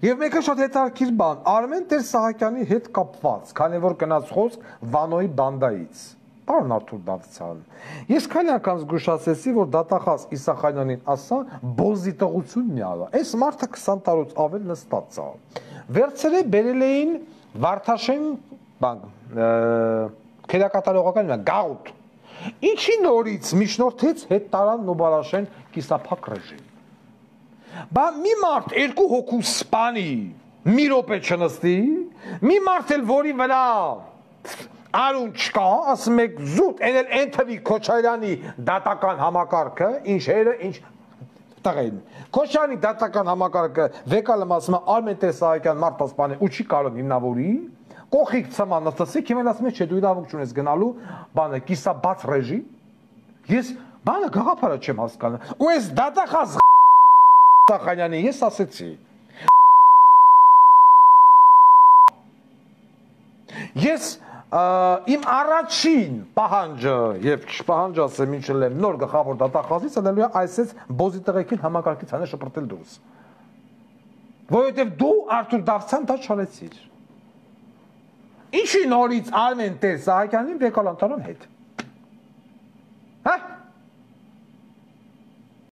Եվ մեկը շատ հետաքրքիր բան, Արմեն Տեր-Սահակյանի հետ կապված, քանի որ գնաց խոսք Վանոյի բանդայից։ Պարոն Արթուր Դավթյան, ես քանի անգամ զգուշացեցի, որ դատախազ Իսախանյանին ասա, բոզի տղությունն է ալա։ Այս մարդը 20 տարուց ավել նստած է։ Վերցրե բերել էին Վարդաշեն բան, քերակատարողական գաղութ։ Ինչի նորից միջնորդեց հետ տարան Նոբարաշեն կիսափակ ռեժիմ։ Բա մի մարդ երկու հոգու սպանի, մի րոպե չնստի, մի մարդ էլ որի վրա Արուն չկա, ասում եք զուտ, են թվի Քոչարյանի դատական համակարգը, ինչ հերը, ինչ տղեն։ Քոչարյանի դատական համակարգը վեկալում ասում է Արմեն Տեր-Սահակյան մարդ ասպան է ու չի կարող հիմնավորի, կողիկ ծման նստասիկ, հիմեն ասում է չէ դու իրավունք չունես գնալու բանը կիսաբաց ռեժիմ, ես բանը գաղափարը չեմ հասկանում, ու ես դատախազ Սախանյանին ես ասեցի, ես իմ առաջին պահանջը և պահանջը ասեմ ինչ լեմ նոր գխավոր դատախազից անելու է այսպես բոզի տղեկին համակարգից հանը շպրտել դուրս։ Որովհետև դու Արթուր Դավթյան դա չարեցիր։ Ինչի նորից Արմեն Տեր-Սահակյանին վեկալանտարան հետ։